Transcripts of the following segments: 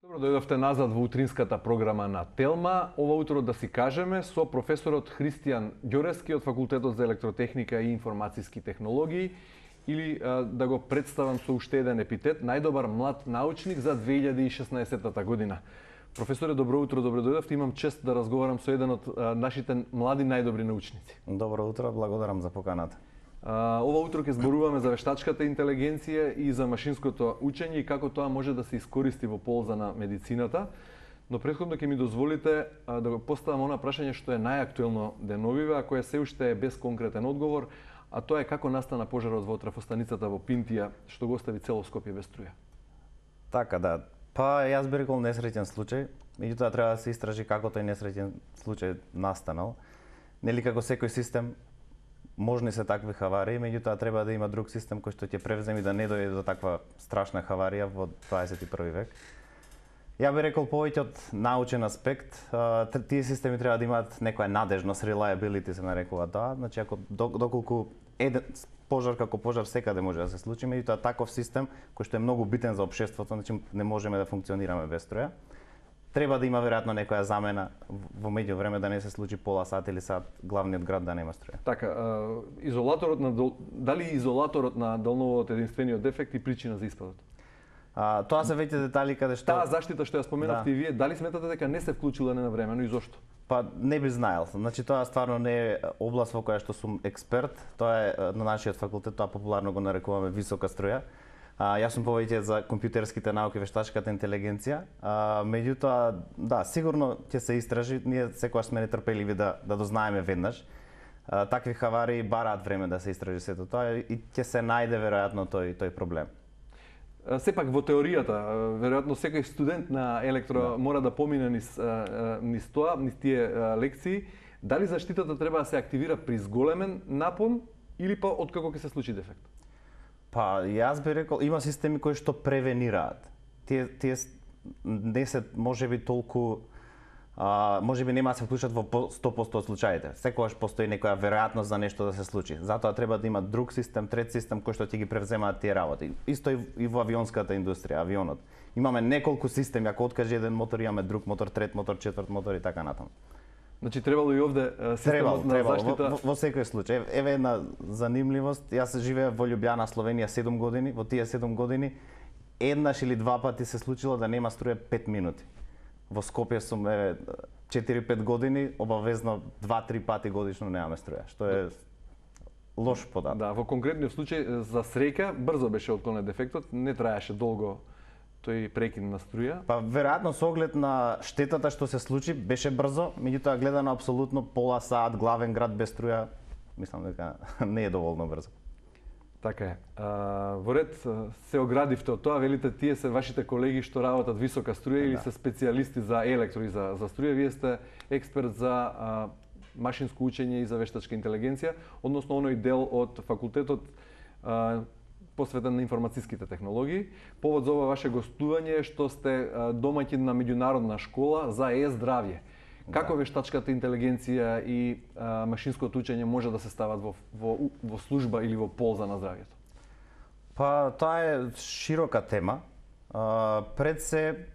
Добро дојдовте назад во утринската програма на Телма. Ова утро да си кажеме со професорот Христијан Ѓорески од Факултетот за електротехника и информацијски технологии, или да го представам со уште еден епитет, најдобар млад научник за 2016 година. Професоре, добро утро, добро дојдовте. Имам чест да разговарам со еден од нашите млади најдобри научници. Добро утро, благодарам за поканата. Ова утро ќе зборуваме за вештачката интелигенција и за машинското учење и како тоа може да се искористи во полза на медицината. Но претходно ќе ми дозволите да го поставам она прашање што е најактуелно деновиве, а кое се уште е без конкретен одговор, а тоа е како настана пожарот во трафостаницата во Пинтија, што го остави цело Скопје без струја. Така да. Па јас би рекол несреќен случај, меѓутоа треба да се истражи како тој несреќен случај настанал. Нели како секој систем можни се такви хаварии, меѓутоа треба да има друг систем кој што ќе превземе да не дојде до таква страшна хаварија во 21 век. Ја би рекол повеќе од научен аспект, тие системи треба да имаат некоја надежност, reliability се нарекува тоа, значи ако доколку еден пожар како пожар секаде може да се случи, меѓутоа таков систем кој што е многу битен за општеството, значи не можеме да функционираме без струја. Треба да има веројатно некоја замена во меѓувреме да не се случи пола сат или сат главниот град да нема струја. Така, дали изолаторот на долноводот е единствениот дефект и причина за испадот? Тоа се веќе детали каде што таа заштита што ја споменавте и вие, дали сметате дека не се вклучила ненавремено и зошто? Па не би знаел. Значи тоа стварно не е област во која што сум експерт. Тоа е на нашиот факултет, тоа популарно го нарекуваме висока струја. Јас сум повеќе за компјутерските науки, вештачката интелигенција. Меѓутоа, да, сигурно ќе се истражи. Ние секогаш сме нетрпеливи да дознаеме веднаш. Такви хаварии бараат време да се истражи сето тоа и ќе се најде веројатно тој проблем. Сепак во теоријата, веројатно секој студент на електро мора да помине низ тоа, низ тие лекции. Дали заштитата треба да се активира при зголемен напон или па откако ќе се случи дефект? Па јас би рекол има системи кои што превенираат. Тие не се можеби толку можеби нема да се вклучат во 100% од случаите. Секогаш постои некоја веројатност за нешто да се случи. Затоа треба да има друг систем, трет систем кој што ќе ги превземаат тие работи. Исто и во авионската индустрија, авионот. Имаме неколку системи, ако откаже еден мотор, имаме друг мотор, трет мотор, четврт мотор и така натаму. Значи требало и овде системот на заштита. Во секој случај. Еве една занимливост. Јас живеев во Љубљана, Словенија 7 години. Во тие 7 години еднаш или два пати се случило да нема струја 5 минути. Во Скопје сум 4-5 години, обавезно 2-3 пати годишно немаме струја, што е лош податок. Да, во конкретниот случај за среќа брзо беше отклонет дефектот, не траеше долго тој прекин на струја. Па веројатно со оглед на штетата што се случи беше брзо, меѓутоа гледано апсолутно пола сат главен град без струја, мислам дека не е доволно брзо. Така е. Во ред се оградивте од тоа, велите тие се вашите колеги што работат висока струја или се специјалисти за електро и за струја, вие сте експерт за машинско учење и за вештачка интелигенција, односно оној дел од факултетот посветен на информацијските технологии. Повод за ова ваше гостување е што сте домаќин на меѓународна школа за е-здравје. Како вештачката интелигенција и машинското учење може да се стават во служба или во полза на здравјето? Па тоа е широка тема. Пред се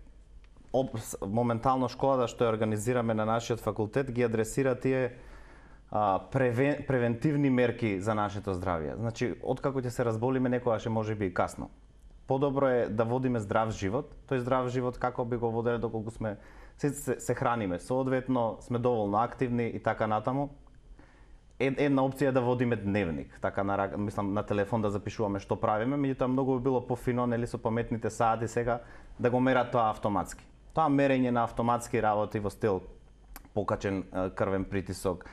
моментално школата што ја организираме на нашиот факултет ги адресира тие превентивни мерки за нашето здравје. Значи, откако ќе се разболиме, некогаш може би и касно. Подобро е да водиме здрав живот. Тој здрав живот како би го воделе доколку сме се храниме, соодветно сме доволно активни и така натаму. Една опција е да водиме дневник, така мислам на телефон да запишуваме што правиме, меѓутоа многу би било пофино нели со паметните сати сега да го мерат тоа автоматски. Тоа мерење на автоматски работи во стил покачен крвен притисок,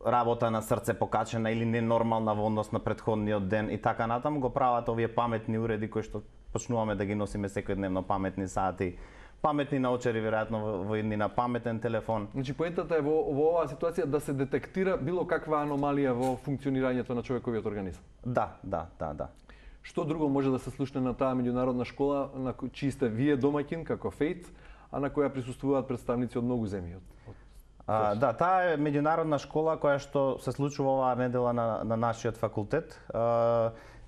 работа на срце покачена или ненормална во однос на претходниот ден и така натаму го прават овие паметни уреди кои што почнуваме да ги носиме секојдневно, паметни сати, паметни научари веројатно во еднина, паметен телефон. Значи поентата е во оваа ситуација да се детектира било каква аномалија во функционирањето на човековиот организам. Да. Што друго може да се слушне на таа меѓународна школа на чии сте вие домаќин како ФЕЙТ, а на која присуствуваат представници од многу земји? Да, таа е меѓународна школа која што се случува оваа недела на нашиот факултет.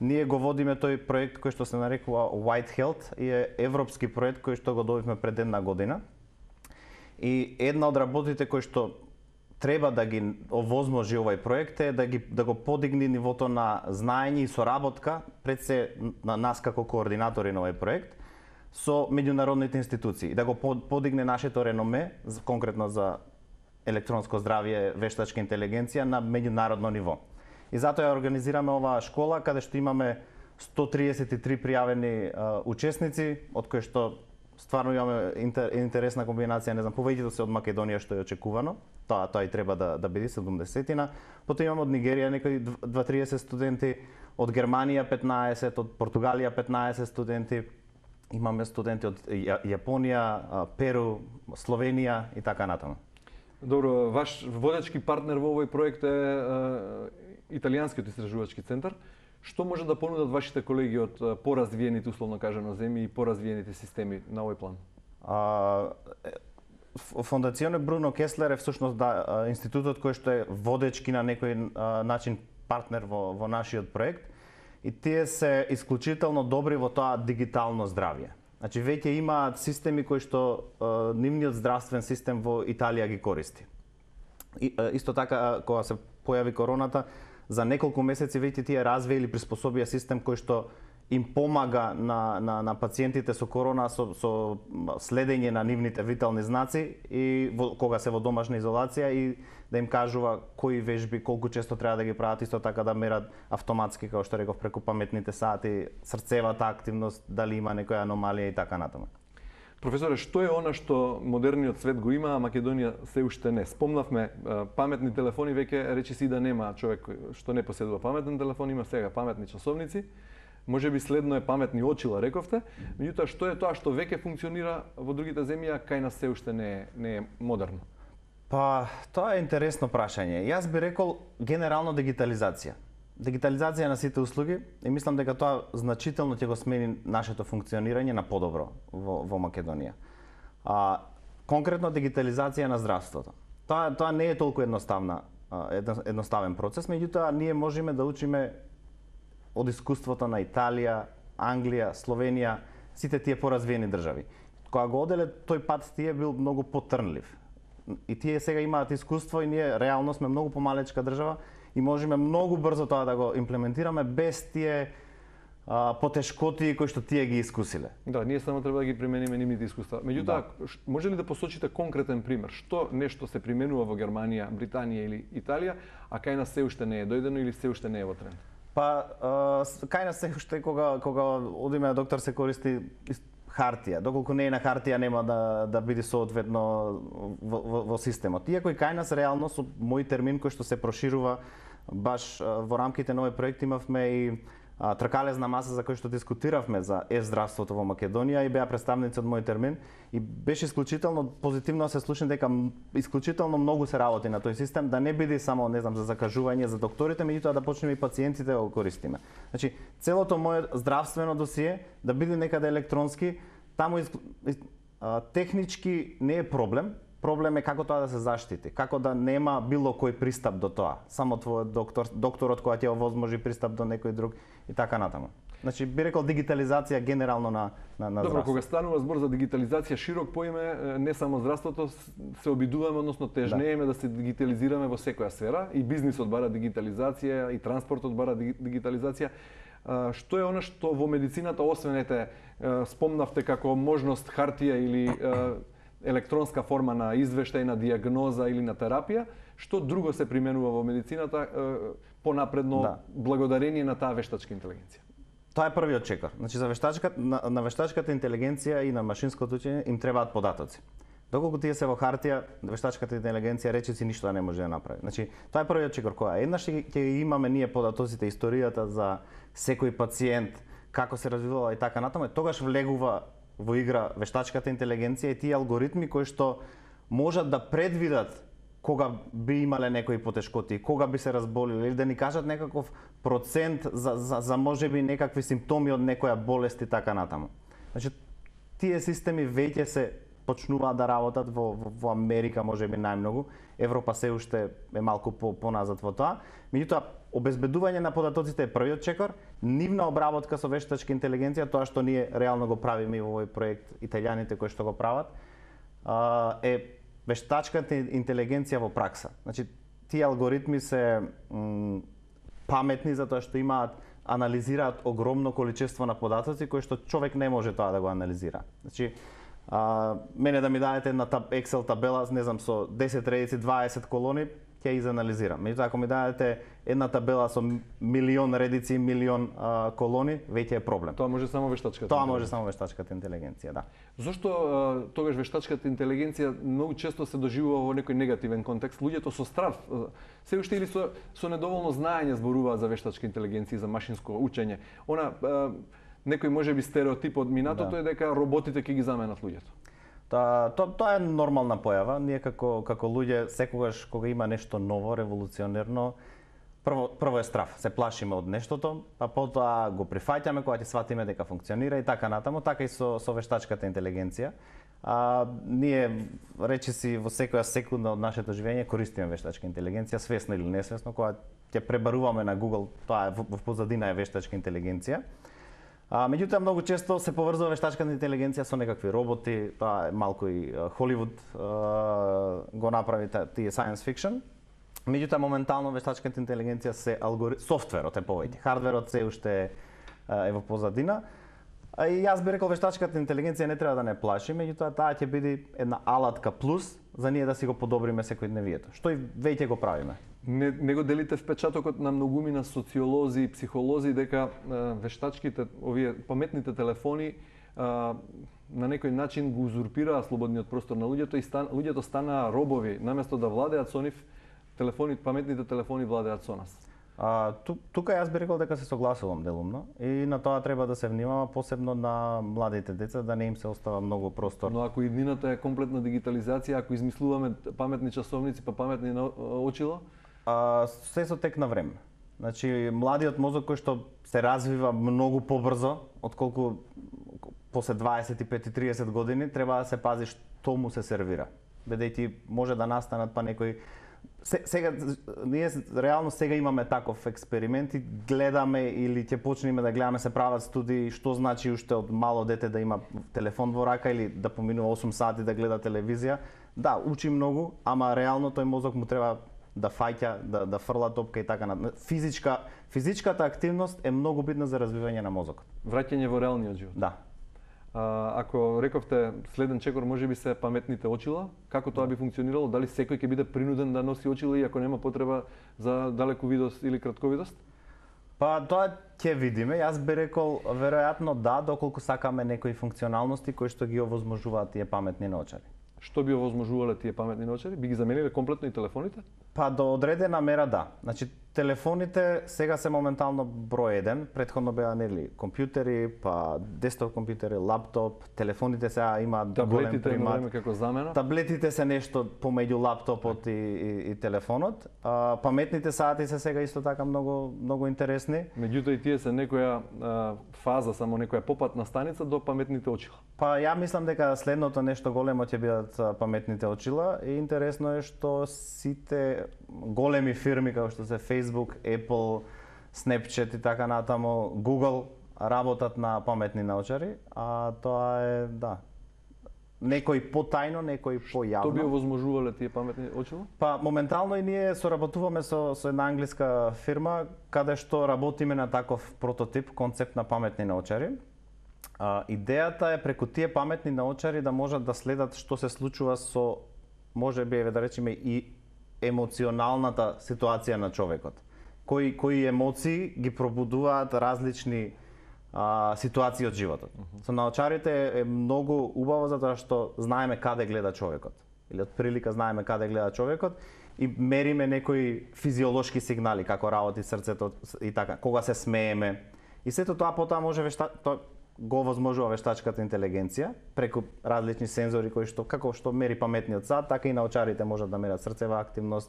Ние го водиме тој проект кој што се нарекува White Health и е европски проект кој што го добивме пред 1 година. И една од работите кои што треба да ги овозможи овој проект е да го подигне нивото на знаење и соработка пред се на нас како координатори на овој проект со меѓународните институции, да го подигне нашето реноме, конкретно за електронско здравје, вештачка интелигенција на меѓународно ниво. И затоа ја организираме оваа школа каде што имаме 133 пријавени учесници, од кои што стварно имаме интересна комбинација, не знам, повеќето се од Македонија што е очекувано. Тоа и треба да биде 70-тина. Потоа имаме од Нигерија некои 2-30 студенти, од Германија 15, од Португалија 15 студенти. Имаме студенти од Јапонија, Перу, Словенија и така натаму. Добро, ваш водечки партнер во овој проект е Италијанскиот истражувачки центар. Што може да понудат вашите колеги од поразвиените, условно кажано, земји и поразвиените системи на овој план? Фондационе Бруно Кеслер е всушност институтот кој што е водечки на некој начин партнер во нашиот проект и тие се исклучително добри во тоа дигитално здравје. Значи веќе имаат системи кои што нивниот здравствен систем во Италија ги користи. Исто така кога се појави короната, за неколку месеци веќе тие развија или приспособија систем кој што им помага на пациентите со корона со следење на нивните витални знаци и кога се во домашна изолација и да им кажува кои вежби колку често треба да ги прават, исто така да мерат автоматски, како што реков, преку паметните сати, срцевата активност, дали има некоја аномалија и така натаму. Професоре, што е она што модерниот свет го има, а Македонија се уште не? Спомнавме паметни телефони, веќе речиси да нема човек што не поседува паметен телефон, има сега паметни часовници. Може би следно е паметни очила, рековте. Меѓутоа, што е тоа што веќе функционира во другите земји, а кај нас се уште не е модерно? Па, тоа е интересно прашање. Јас би рекол генерално дигитализација. Дигитализација на сите услуги и мислам дека тоа значително ќе го смени нашето функционирање на подобро во Македонија. Конкретно дигитализација на здравството. Тоа не е толку едноставен процес, меѓутоа ние можеме да учиме од искуството на Италија, Англија, Словенија, сите тие поразвиени држави. Кога го оделе тој пат тие бил многу потрнлив. И тие сега имаат искуство и ние реално сме многу помалечка држава и можеме многу брзо тоа да го имплементираме без тие потешкоти кои што тие ги искусиле. Да, ние само треба да ги примениме нивните искуства. Меѓутоа, може ли да посочите конкретен пример? Што нешто се применува во Германија, Британија или Италија, а кај нас се уште не е дојдено или се уште не е во тренд? Па, кај нас се уште кога одиме на доктор се користи хартија. Доколку не е на хартија нема да биде соодветно во системот. Иако и кај нас реално со мој термин кој што се проширува баш во рамките на овој проект имавме и тркалезна маса за кој што дискутиравме за здравството во Македонија и беа представници од мој термин и беше исклучително позитивно се слушам дека исклучително многу се работи на тој систем, да не биде само, не знам, за закажување за докторите, меѓутоа да почнеме и пациентите да го користиме. Значи, целото моје здравствено досие да биде некаде електронски, таму технички не е проблем. Проблем е како тоа да се заштити, како да нема било кој пристап до тоа. Само твојот докторот која ќе овозможи пристап до некој друг и така натаму. Значи би рекол дигитализација генерално на здравството. Добро, кога станува збор за дигитализација, широк поиме, не само здравството, се обидуваме, односно тежнееме да се дигитализираме во секоја сфера, и бизнисот бара дигитализација, и транспортот бара дигитализација. Што е она што во медицината, освен спомнавте како можност хартија или електронска форма на извештај, на диагноза или на терапија, што друго се применува во медицината понапредно благодарение на таа вештачка интелигенција? Тоа е првиот чекор. Значи за на вештачката интелигенција и на машинското учење им требаат податоци. Доколку тие се во хартија, вештачката интелигенција речиси ништо не може да направи. Значи тоа е првиот чекор која еднаш ќе имаме ние податоците, историјата за секој пациент, како се развивала и така натаму, тогаш влегува во игра вештачката интелигенција и тие алгоритми кои што можат да предвидат кога би имале некои потешкоти, кога би се разболиле, или да ни кажат некаков процент за можеби некакви симптоми од некоја болест и така натаму. Значи, тие системи веќе се почнуваат да работат во Америка, можеби најмногу. Европа се уште е малку поназад во тоа. Меѓутоа, обезбедување на податоците е првиот чекор, нивна обработка со вештачка интелигенција, тоа што ние реално го правиме во овој проект, италијаните кои што го прават, е вештачката интелигенција во пракса. Значи, тие алгоритми се паметни затоа што анализираат огромно количество на податоци кои што човек не може тоа да го анализира. Значи, мене да ми дадете една Excel табела, не знам, со 10 редици, 20 колони, ќе изанализирам. Меѓутоа, ако ми дадете една табела со милион редици, милион колони, веќе е проблем. Тоа може само вештачката. Тоа може само вештачката интелигенција, да. Зошто тогаш вештачката интелигенција многу често се доживува во некој негативен контекст? Луѓето со страв, се уште или со недоволно знаење зборуваат за вештачка интелигенција, за машинско учење. Некој можеби стереотип од минатото е дека роботите ќе ги заменат луѓето. Тоа е нормална појава. Ние како луѓе секогаш кога има нешто ново, револуционерно, прво е страв. Се плашиме од нештото, а потоа го прифаќаме кога ќе сватиме дека функционира и така натаму, така и со вештачката интелигенција. Ние речиси во секоја секунда од нашето живење користиме вештачка интелигенција, свесно или несвесно, кога ќе пребаруваме на Google, тоа е во позадина е вештачка интелигенција. Меѓутоа многу често се поврзува вештачката интелигенција со некакви роботи, тоа е малку и Холивуд го направи тие science fiction. Меѓутоа моментално вештачката интелигенција се софтверот е повеќе, хардверот се уште е во позадина. И јас би рекол вештачката интелигенција не треба да не плаши, меѓутоа таа ќе биде една алатка плюс за ние да си го подобриме секојдневието, што и веќе го правиме. Не го делите впечатокот на многумина социолози и психолози дека вештачките, овие паметните телефони на некој начин го узурпираа слободниот простор на луѓето и луѓето станаа робови, наместо да владеат со нив, паметните телефони владеат со нас. Тука јас би рекол дека се согласувам делумно и на тоа треба да се внимава, посебно на младите деца, да не им се остава многу простор. Но ако иднината е комплетна дигитализација, ако измислуваме паметни часовници па паметни очила, се со тек на време. Значи, младиот мозок кој што се развива многу побрзо, отколку после 25-30 години, треба да се пази што му се сервира. Бидејќи може да настанат па некои сега ние реално сега имаме таков експеримент и гледаме или ќе почнеме да гледаме, се прават студии што значи уште од мало дете да има телефон во рака или да поминува 8 сати да гледа телевизија. Да, учи многу, ама реално тој мозок му треба да фаќа, да фрла топка и така на физичката активност е многу битна за развивање на мозокот. Враќање во реалниот живот. Да. Ако рековте следен чекор можеби се паметните очила, како тоа би функционирало? Дали секој ќе биде принуден да носи очила и ако нема потреба за далековидост или кратковидост? Па тоа ќе видиме. Јас би рекол веројатно да, доколку сакаме некои функционалности кои што ги овозможуваат тие паметни наочари. Што би овозможувале тие паметни наочари? Би ги замениле комплетно и телефоните? Па до одредена мера да. Значи телефоните сега се моментално број 1, претходно беа нели компјутери, па десктоп компјутери, лаптоп, телефоните сега имаат голем примат. Таблетите како замена. Таблетите се нешто помеѓу лаптопот и телефонот. Паметните сати се сега исто така многу интересни. Меѓутоа и тие се некоја фаза, само некоја попатна станица до паметните очила. Па ја мислам дека следното нешто големо ќе бидат паметните очила и интересно е што сите големи фирми како што се Facebook, Apple, Snapchat и така натаму, Google работат на паметни наочари, а тоа е да. Некој потајно, некој појавно. Што би овозможувале тие паметни очила? Па моментално и ние соработуваме со една англиска фирма каде што работиме на таков прототип, концепт на паметни наочари. Идејата е преку тие паметни наочари да можат да следат што се случува со, можеби да речеме и емоционалната ситуација на човекот. Кои емоции ги пробудуваат различни ситуации од животот. Со наочарите е многу убаво затоа што знаеме каде гледа човекот. Или од прилика знаеме каде гледа човекот и мериме некои физиолошки сигнали како работи срцето и така, кога се смееме. И сето тоа потоа може го возможува вештачката интелигенција преку различни сензори кои што како што мери паметниот сат, така и наочарите можат да мерат срцева активност,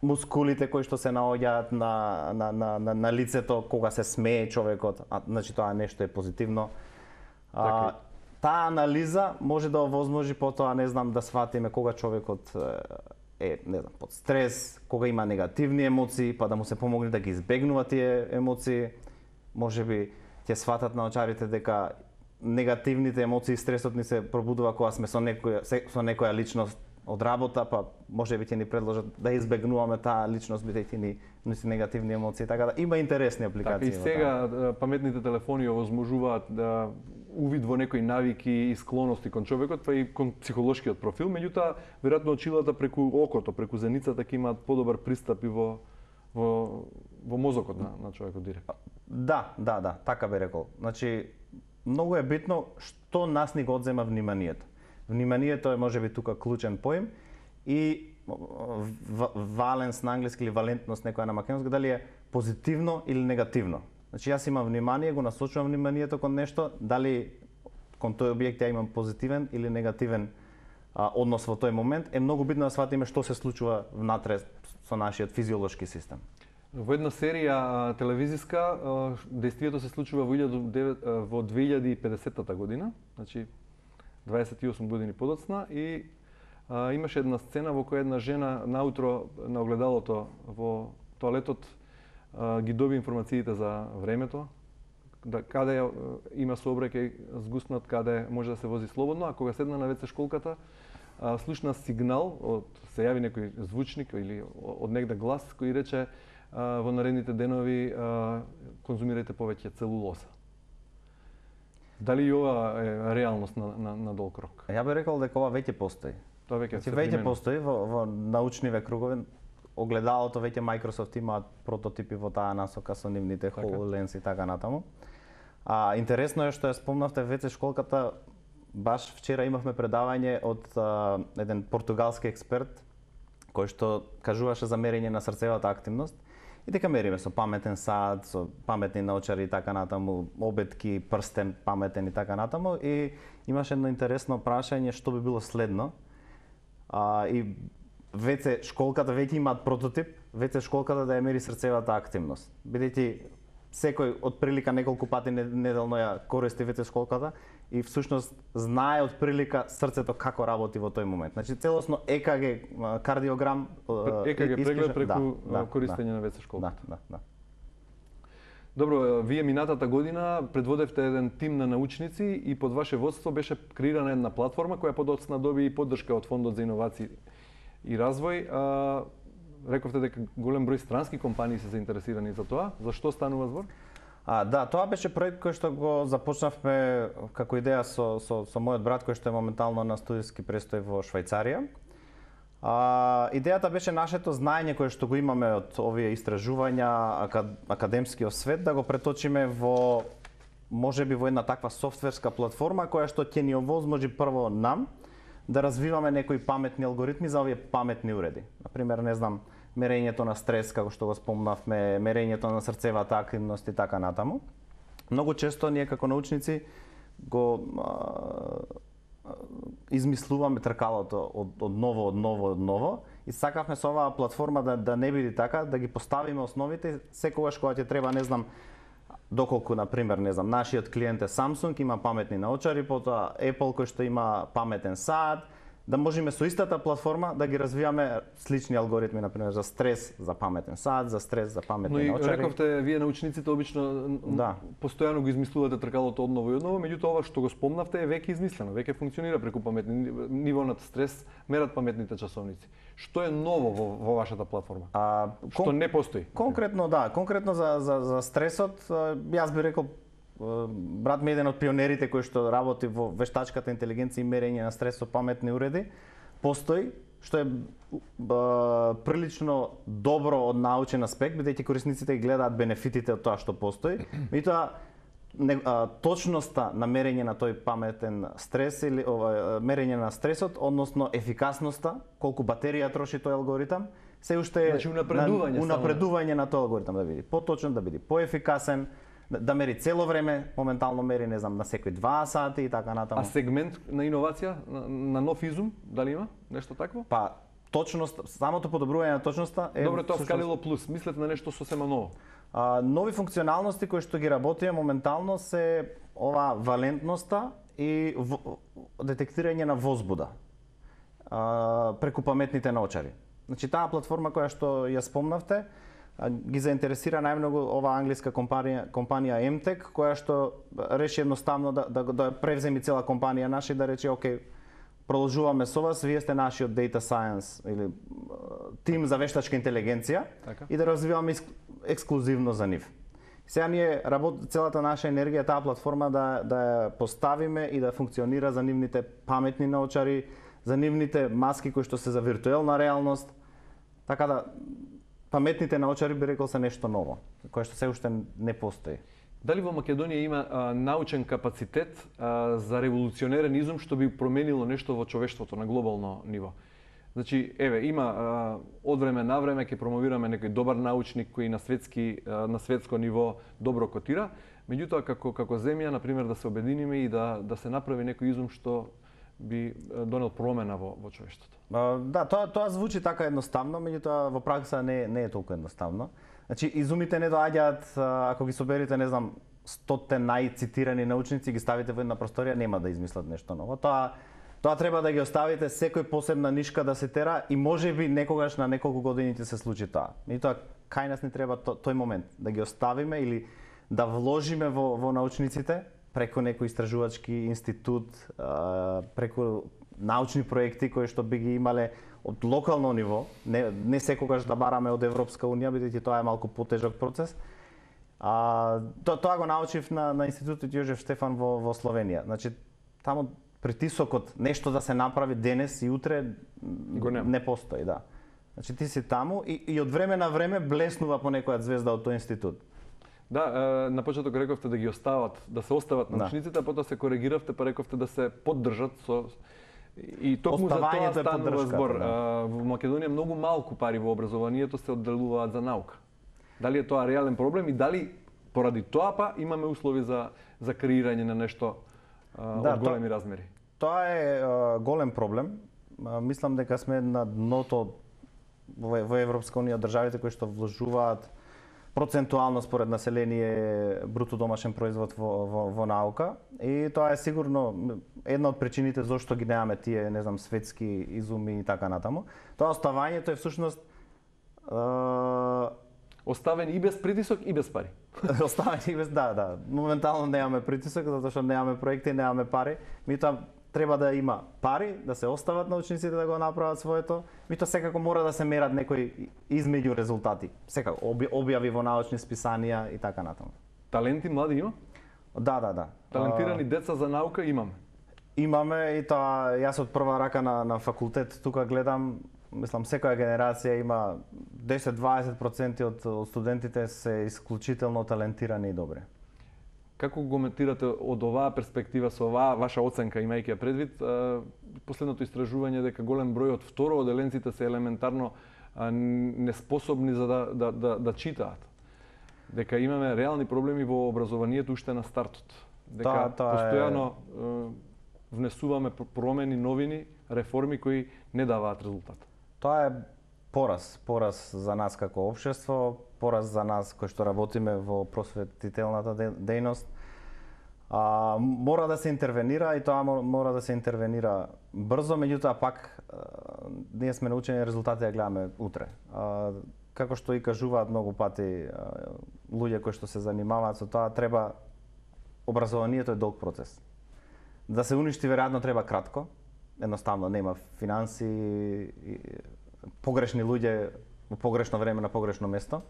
мускулите кои што се наоѓаат на лицето кога се смее човекот, значи тоа нешто е позитивно. Таа анализа може да овозможи потоа, не знам, да сватиме кога човекот не знам, под стрес, кога има негативни емоции, па да му се помогне да ги избегнува тие емоции. Можеби ќе сватат научарите дека негативните емоции и стресот ни се пробудува кога сме со некоја личност од работа, па можеби ќе ни предложат да избегнуваме таа личност бидејќи ни носи негативни емоции, така да има интересни апликации. Така и сега паметните телефони овозможуваат да увид во некои навики и склоности кон човекот, па и кон психолошкиот профил, меѓутоа веројатно очилата преку окото, преку зеницата ќе имаат подобар пристап и во мозокот на човекот директно. Да, така би рекол. Значи многу е битно што нас ни го одзема вниманието. Вниманието е можеби тука клучен поим и валенс на англиски или валентност некоја на македонски, дали е позитивно или негативно. Значи јас имам внимание, го насочувам вниманието кон нешто, дали кон тој објект ја имам позитивен или негативен однос во тој момент, е многу битно да сватиме што се случува внатре со нашиот физиолошки систем. Во една серија телевизиска, дејствието се случува во 2050 година, значи 28 години подоцна, и имаше една сцена во која една жена наутро на огледалото во тоалетот ги доби информациите за времето, каде има сообраќај згуснат, каде може да се вози слободно, а кога седна на WC школката, слушна сигнал, се јави некој звучник или од негде глас кој рече во наредните денови конзумирајте повеќе целулоза. Дали и ова е реалност на долг рок? Ја би рекол дека ова веќе постои. Тоа веќе постои во научниве кругови. Огледалото веќе Microsoft имаат прототипи во таа насока со нивните HoloLens и така натаму. Интересно е што ја спомнавте WC школката. Баш вчера имавме предавање од еден португалски експерт кој што кажуваше за мерење на срцевата активност и дека мериме со паметен сат, со паметни научари и така натаму, обетки, прстен паметен и така натаму, и имаше едно интересно прашање што би било следно. И WC школката веќе имаат прототип, WC школката да ја мери срцевата активност. Бидејќи секој од прилика неколку пати неделно ја користи WC школката и всушност знае од прилика срцето како работи во тој момент. Значи целосно ЕКГ кардиограм, ЕКГ преглед преку користење на WC школката. Да. Добро, вие минатата година предводевте еден тим на научници и под ваше водство беше креирана една платформа која подоцна доби и поддршка од Фондот за иновации и развој. Рековте дека голем број странски компании се заинтересирани за тоа. За што станува збор? Да, тоа беше проект кој што го започнавме како идеја со мојот брат кој што е моментално на студиски престој во Швајцарија. Идејата беше нашето знаење кое што го имаме од овие истражувања, академскиот свет, да го преточиме во можеби во една таква софтверска платформа која што ќе ни овозможи прво нам да развиваме некои паметни алгоритми за овие паметни уреди. Например, не знам, мерењето на стрес, како што го спомнавме, мерењето на срцевата активност и така натаму. Многу често ние како научници го измислуваме тркалото од ново и сакавме со оваа платформа да не биде така, да ги поставиме основите секогаш кога ќе треба, не знам, доколку, например, не знам, нашиот клиент е Samsung, има паметни научари, потоа Apple кој што има паметен сат, да можеме со истата платформа да ги развиваме слични алгоритми, например, за стрес, за паметен сат, за стрес, за паметни научари. Но и рековте, вие научниците обично постојано го измислувате тркалото одново и одново, меѓутоа ова што го спомнавте е веќе измислено, веќе функционира преку паметни ниво на стрес, мерат паметните часовници. Што е ново во вашата платформа? Што не постои? Конкретно за стресот, јас би рекол, брат ми е еден од пионерите кој што работи во вештачката интелигенција и мерење на стрес со паметни уреди. Постои, што е прилично добро од научен аспект, бидејќи корисниците гледаат бенефитите од тоа што постои. Меѓутоа, точноста на мерење на тој паметен стрес или мерење на стресот, односно ефикасноста, колку батерија троши тој алгоритам, се уште значи унапредување на тој алгоритам да биде поточен, да биде поефикасен, да мери цело време, моментално мери, не знам, на секои 2 сати и така натаму. А сегмент на иновација, на нов изум, дали има нешто такво? Па, точност, самото подобрување на точноста е... Добро, тоа скалило плюс, мислете на нешто сосема ново? Нови функционалности кои што ги работиме моментално се ова валентноста и детектирање на возбуда. преку паметните научари. Значи таа платформа која што ја спомнавте ги заинтересира најмногу оваа англиска компанија MTech, која што реши едноставно да превземи цела компанија наша и да рече окей, продолжуваме со вас, вие сте нашиот data science или тим за вештачка интелигенција и да развиваме ексклузивно за нив. Сега ние целата наша енергија таа платформа да ја поставиме и да функционира за нивните паметни научари, за нивните маски кои што се за виртуелна реалност. Така да паметните научари би рекол се нешто ново, кое што се уште не постои. Дали во Македонија има научен капацитет за револуционерен изум што би променило нешто во човештвото на глобално ниво? Значи, има од време на време ќе промовираме некој добар научник кој на светско ниво добро котира, меѓутоа како земја, на пример, да се обединиме и да се направи некој изум што би донел промена во човештвото. Да, тоа звучи така едноставно, меѓутоа во пракса не е толку едноставно. Значи, изумите не доаѓаат, ако ги соберите, не знам, 100 најцитирани научници, ги ставите во една просторија, нема да измислат нешто ново. Тоа треба да ги оставите секој посебна нишка да се тера и можеби некогаш на неколку години ќе се случи тоа. Меѓутоа, кај нас не треба тој момент да ги оставиме или да вложиме во научниците преку некој истражувачки институт, преку научни проекти кои што би ги имале од локално ниво, не секогаш да бараме од Европска унија, бидејќи тоа е малку потежок процес. Тоа го научив на институтот Јожеф Штефан во Словенија. Значи, таму притисокот нешто да се направи денес и утре не постои, да. Значи ти си таму и од време на време блеснува по некоја звезда од тој институт. Да, на почеток рековте да ги остават, да се остават научниците, а потоа се коригиравте па рековте да се поддржат со и токму за тоа станува збор. Во Македонија многу малку пари во образованието се одделуваат за наука. Дали е тоа реален проблем и дали поради тоа па имаме услови за креирање на нешто од големи размери? Тоа е голем проблем. Мислам дека сме на дното во Европска унија државите кои што вложуваат процентуално според население бруто домашен производ во наука и тоа е сигурно една од причините зошто ги немаме тие, не знам, светски изуми и така натаму. Тоа оставањето е всушност оставени и без притисок и без пари. Оставени и без, да. Моментално немаме притисок затоа што немаме проекти, немаме пари. Меѓутоа треба да има пари, да се остават научниците да го направат своето. Меѓутоа секако мора да се мерат некои измеѓу резултати. Секако објави во научни списанија и така натаму. Таленти млади има? Да. Талентирани деца за наука имаме. Имаме и тоа јас од прва рака на факултет тука гледам, мислам секоја генерација има 10-20% од студентите се исклучително талентирани и добри. Како го коментирате од оваа перспектива со оваа ваша оценка, имајќи ја предвид последното истражување дека голем број од второоделенците се елементарно неспособни за да читаат? Дека имаме реални проблеми во образованието уште на стартот. Дека постојано внесуваме промени, новини, реформи кои не даваат резултат. Тоа е пораз за нас како општество, пораз за нас кои што работиме во просветителната дејност. Мора да се интервенира и тоа мора да се интервенира брзо, меѓутоа пак ние сме научени резултати да гледаме утре. Како што и кажуваат многу пати луѓе кои што се занимаваат со тоа, треба образованието е долг процес. Да се уништи веројатно треба кратко, едноставно нема финанси, погрешни луѓе во погрешно време на погрешно место.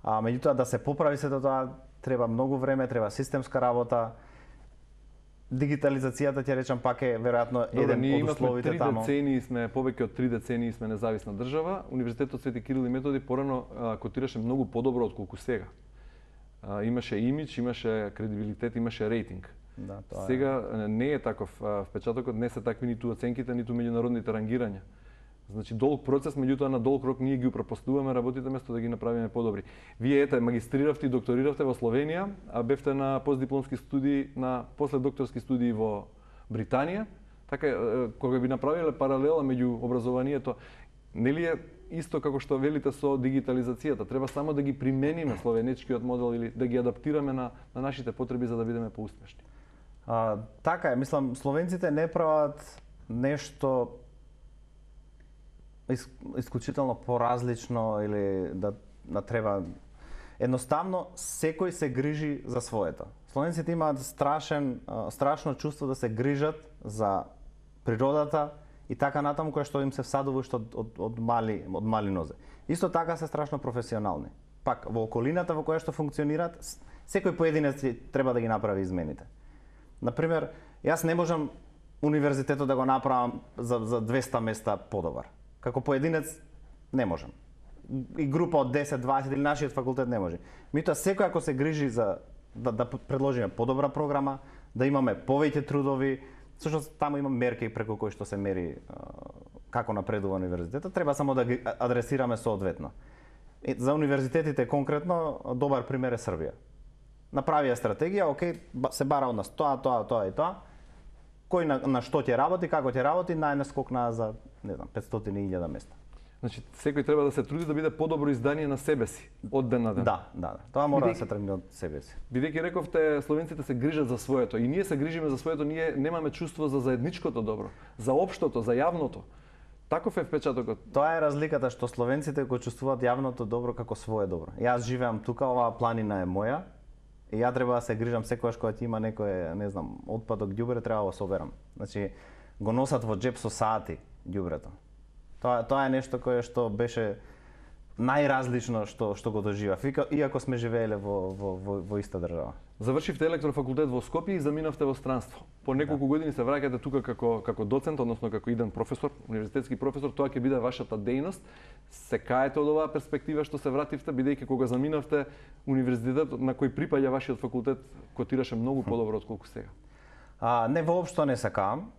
Меѓутоа да се поправи сето тоа треба многу време, треба системска работа. Дигитализацијата, ќе речам, пак е веројатно еден од условите таму. Повеќе од 3 децении сме независна држава. Универзитетот Свети Кирил и Методи порано котираше многу подобро отколку сега. Имаше имидж, имаше кредибилитет, имаше рейтинг. Да, сега не е таков впечатокот, не се такви ниту оценките, ниту меѓународните рангирања. Значи долг процес, меѓутоа на долг рок ние ги упропастуваме работите место да ги направиме подобри. Вие магистриравте и докториравте во Словенија, а бевте на постдипломски студии, на последокторски студии во Британија. Така кога би направиле паралела меѓу образованието, нели е исто како што велите со дигитализацијата, треба само да ги примениме словенечкиот модел или да ги адаптираме на нашите потреби за да бидеме поуспешни. Така е, мислам, словенците не прават нешто исклучително поразлично или да треба. Едноставно секој се грижи за своето. Словенците имаат страшно чувство да се грижат за природата и така натаму, која што им се всадува уште од мали нозе. Исто така се страшно професионални. Пак во околината во која што функционираат, секој поединец треба да ги направи измените. Например, јас не можам универзитетот да го направам за 200 места подобар. Како поединец не можам. И група од 10, 20 или нашиот факултет не може. Меѓутоа секој ако се грижи за да предложиме подобра програма, да имаме повеќе трудови, всушност таму има мерки преку кои што се мери како напредува универзитетот, треба само да ги адресираме соодветно. За универзитетите конкретно добар пример е Србија. Направија стратегија, окей, се бара од нас тоа и тоа. Кој на што ќе работи, како ќе работи, најнаскок на за, не знам, 500.000 места. Значи, секој треба да се труди да биде подобро издание на себе си, од ден на ден. Да. Тоа мора да се тргне од себе си. Бидејќи рековте, словенците се грижат за своето и ние се грижиме за своето, ние немаме чувство за заедничкото добро, за општото, за јавното. Таков е впечатокот. Тоа е разликата што словенците го чувствуваат јавното добро како свое добро. Јас живеам тука, оваа планина е моја и ја треба да се грижам секогаш кога ќе има некој, не знам, отпадок ѓубре, треба да го соберам. Значи, го носат во џеп со сати ѓубрето. Тоа е нешто кое што беше најразлично што го доживав, иако сме живееле во иста држава. Завршивте електрофакултет во Скопје и заминавте во странство. По неколку години се враќате тука како доцент, односно како иден професор, универзитетски професор, тоа ќе биде вашата дејност. Се каете од оваа перспектива што се вративте, бидејќи кога заминавте универзитетот на кој припаѓа вашиот факултет котираше многу подобро отколку сега? Не, воопшто не се каам.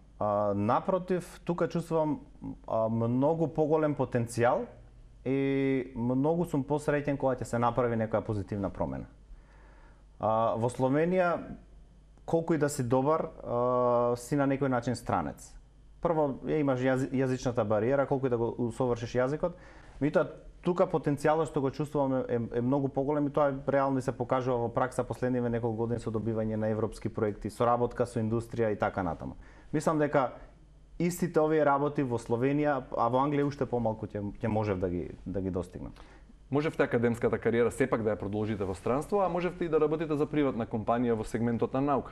Напротив, тука чувствувам многу поголем потенцијал и многу сум посреќен кога ќе се направи некоја позитивна промена. Во Словенија, колку и да си добар, си на некој начин странец. Прво, имаш јазичната бариера, колку и да го усовршиш јазикот, меѓутоа тука потенцијалот што го чувствуваме е многу поголем и тоа реално и се покажува во пракса последниве неколку години со добивање на европски проекти, соработка со индустрија и така натаму. Мислам дека истите овие работи во Словенија, а во Англија уште помалку ќе можев да ги достигнам. Можевте академската кариера сепак да ја продолжите во странство, а можевте и да работите за приватна компанија во сегментот на наука.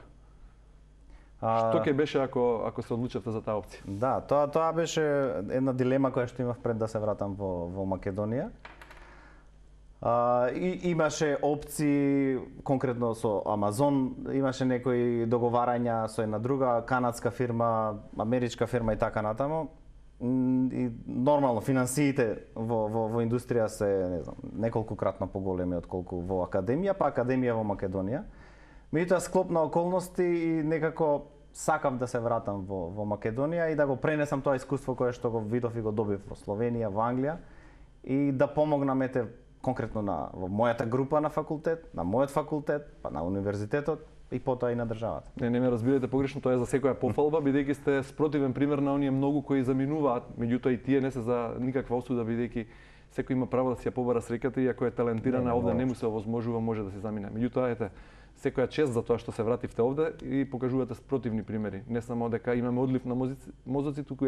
Што ќе беше ако се одлучевте за таа опција? Да, тоа беше една дилема која што имав пред да се вратам во Македонија. Имаше опции конкретно со Амазон, имаше некои договарања со една друга канадска фирма, америчка фирма и така натаму. И нормално финансиите во индустрија се, не знам, неколкукратно поголеми отколку во академија, па академија во Македонија. Меѓутоа склоп на околности и некако сакав да се вратам во Македонија и да го пренесам тоа искуство кое што го видов и го добив во Словенија, во Англија и да помогнам конкретно во мојата група на факултет, на мојот факултет, па на универзитетот и потоа и на државата. Не ме разбирате погрешно, тоа е за секоја пофалба, бидејќи сте спротивен пример на оние многу кои заминуваат, меѓутоа и тие не се за никаква осуда, бидејќи секој има право да си ја побара среќата и ако е талентирана овде не му се овозможува, може да се замине. Меѓутоа секоја чест за тоа што се вративте овде и покажувате спротивни примери. Не само дека имаме одлив на мозоци, туку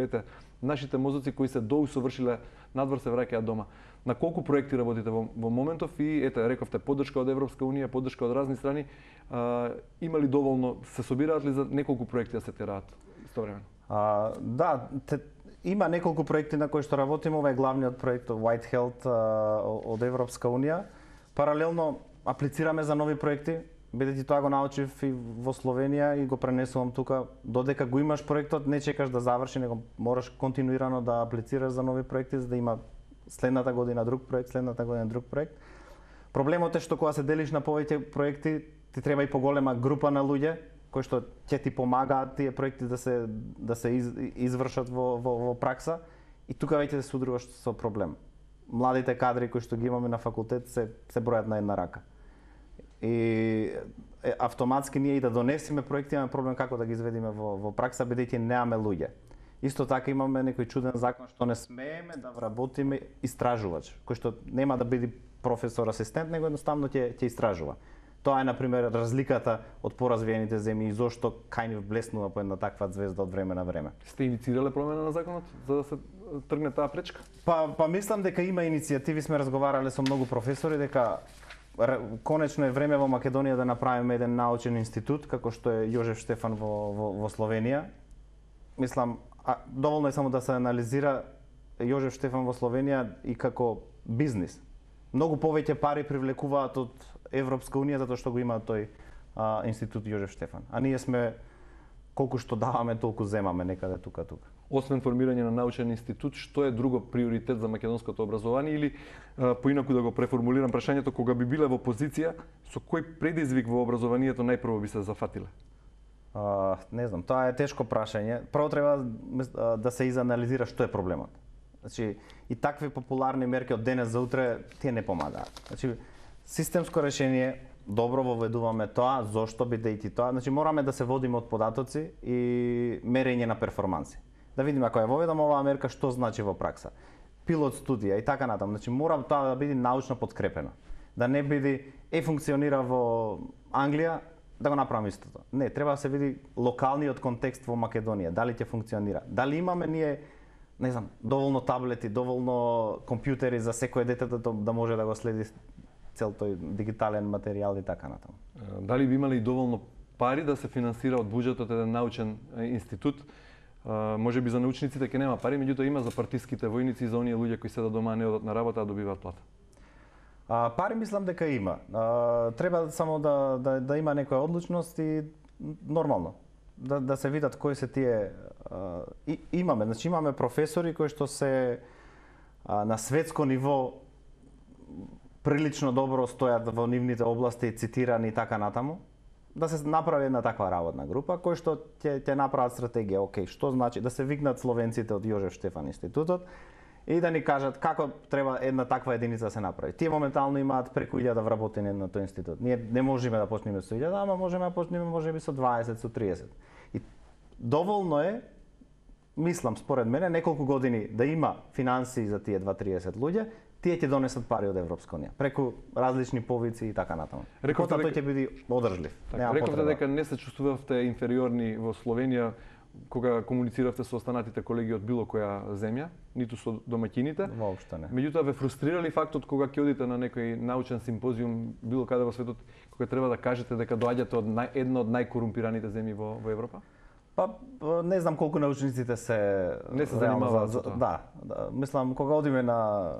нашите мозоци кои се доусовршиле надвор се враќаат дома. На колку проекти работите во моментов и рековте поддршка од Европска унија, поддршка од разни страни, има ли доволно, се собираат ли за неколку проекти да се тераат истовремено? Да, има неколку проекти на кои што работиме, ова е главниот проект White Health од Европска унија. Паралелно аплицираме за нови проекти, бидејќи тоа го научив и во Словенија и го пренесувам тука. Додека го имаш проектот, не чекаш да заврши, него мораш континуирано да аплицираш за нови проекти за да има следната година друг проект, следната година друг проект. Проблемот е што кога се делиш на повеќе проекти, ти треба и поголема група на луѓе кои што ќе ти помагаат тие проекти да се извршат во пракса и тука веќе се судруваш со проблем. Младите кадри кои што ги имаме на факултет се бројат на една рака. И автоматски ние и да донесеме проекти имаме проблем како да ги изведиме во пракса бидејќи немаме луѓе. Исто така имаме некој чуден закон што не смееме да вработиме истражувач, кој што нема да биде професор асистент, него едноставно ќе истражува. Тоа е, например, разликата од поразвиените земји и зошто кај нив блеснува по една таква звезда од време на време. Сте инициирале промена на законот за да се тргне таа пречка? Па мислам дека има иницијативи, сме разговарале со многу професори дека конечно е време во Македонија да направиме еден научен институт како што е Јожеф Штефан во Словенија. Мислам, доволно е само да се анализира Јожеф Штефан во Словенија и како бизнис. Многу повеќе пари привлекуваат од Европска унија затоа што го има тој институт Јожеф Штефан. А ние сме колку што даваме, толку земаме некаде тука. Освен формирање на научен институт, што е друго приоритет за македонското образование или поинаку да го преформулирам прашањето, кога би биле во позиција, со кој предизвик во образованието најпрво би се зафатиле? Не знам, тоа е тешко прашање. Прво треба да се изанализира што е проблемот. Значи, и такви популарни мерки од денес за утре тие не помагаат. Значи, системско решение, добро воведуваме тоа, зошто бидејќи тоа, значи мораме да се водиме од податоци и мерење на перформанси. Да видиме ако ја воведаме оваа мерка што значи во пракса. Пилот студија и така натаму, значи мора тоа да биде научно подкрепено. Да не биде функционира во Англија, да го направиме истото. Не, треба да се види локалниот контекст во Македонија, дали ќе функционира. Дали имаме ние, не знам, доволно таблети, доволно компјутери за секое дете да може да го следи цел тој дигитален материјал и така натаму. Дали би имали доволно пари да се финансира од буџетот еден научен институт? Може би за научниците ќе нема пари, меѓутоа има за партиските војници и за оние луѓе кои седат дома не одат на работа, а добиваат плата. Пари мислам дека има. Треба само да има некоја одлучност и нормално да се видат кои се тие имаме, значи имаме професори кои што се на светско ниво прилично добро стојат во нивните области, цитирани и така натаму. Да се направи една таква работна група кој што ќе направат стратегија, окей, што значи да се викнат словенците од Јожеф Штефан институтот и да ни кажат како треба една таква единица да се направи. Тие моментално имаат преку 1000 вработени на тој институт. Ние не можеме да почнеме со 1000, ама можеме да почнеме можеби со 20, со 30. И доволно е, мислам според мене, неколку години да има финансии за тие 20-30 луѓе, тие ќе донесат пари од Европска унија, преку различни повици и така натаму. Рековте тој ќе биде одржлив. Рековте дека не се чувствувавте инфериорни во Словенија кога комунициравте со останатите колеги од било која земја, ниту со домаќините. Воопшто не. Меѓутоа ве фрустрирали фактот кога ќе одите на некој научен симпозиум било каде во светот, кога треба да кажете дека доаѓате од една од најкорумпираните земји во Европа? Па не знам колку научниците не се занимаваат со тоа. Да, мислам кога одиме на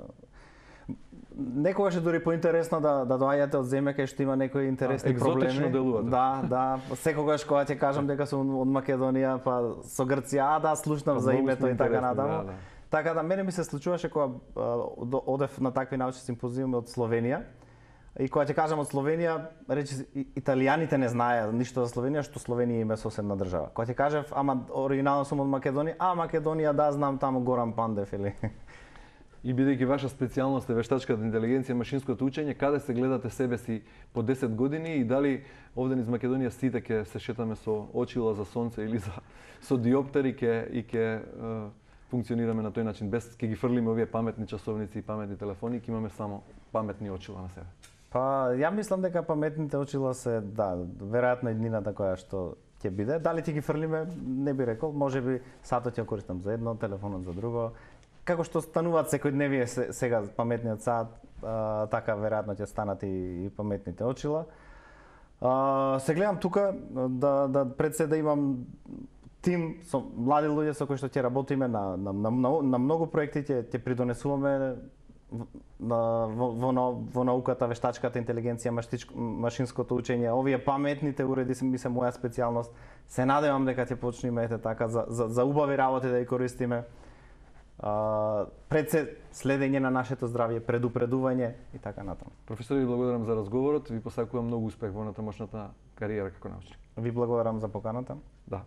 некогаш е дури поинтересно да доаѓате од земја кај што има некои интересни проблеми. Екзотично делувате. Да, секогаш кога ќе кажам дека сум од Македонија, па со Грција, да, слушнав за името и така натаму. Да. Така да мене ми се случуваше кога одев на такви научни симпозиуми од Словенија. И кога ќе кажам од Словенија, речи италијаните не знаеа ништо за Словенија, што Словенија има соседна држава. Кога ќе кажав, ама оригинално сум од Македонија, Македонија да знам таму Горан Пандев или И бидејќи ваша специјалност е вештачката интелигенција, машинското учење, каде се гледате себе си по 10 години и дали овде низ Македонија сите ќе се шетаме со очила за сонце или со диоптери и ќе функционираме на тој начин, без ќе ги фрлиме овие паметни часовници и паметни телефони, ќе имаме само паметни очила на себе. Па ја мислам дека паметните очила се веројатно еднината која што ќе биде. Дали ќе ги фрлиме, не би рекол, можеби сатот ќе користам за едно, телефонот за друго. Како што стануваат секојдневие сега паметниот сат, така веројатно ќе станат и паметните очила. Се гледам тука да пред се да имам тим со млади луѓе со кои што ќе работиме на многу проекти, ќе придонесуваме во науката, вештачката интелигенција, машинското учење. Овие паметните уреди ми се моја специјалност. Се надевам дека ќе почнеме така за убави работи да ја користиме. Пред се следење на нашето здравје, предупредување и така натаму. Професор, ви благодарам за разговорот, ви посакувам многу успех во натамошната кариера како научник. Ви благодарам за поканата. Да.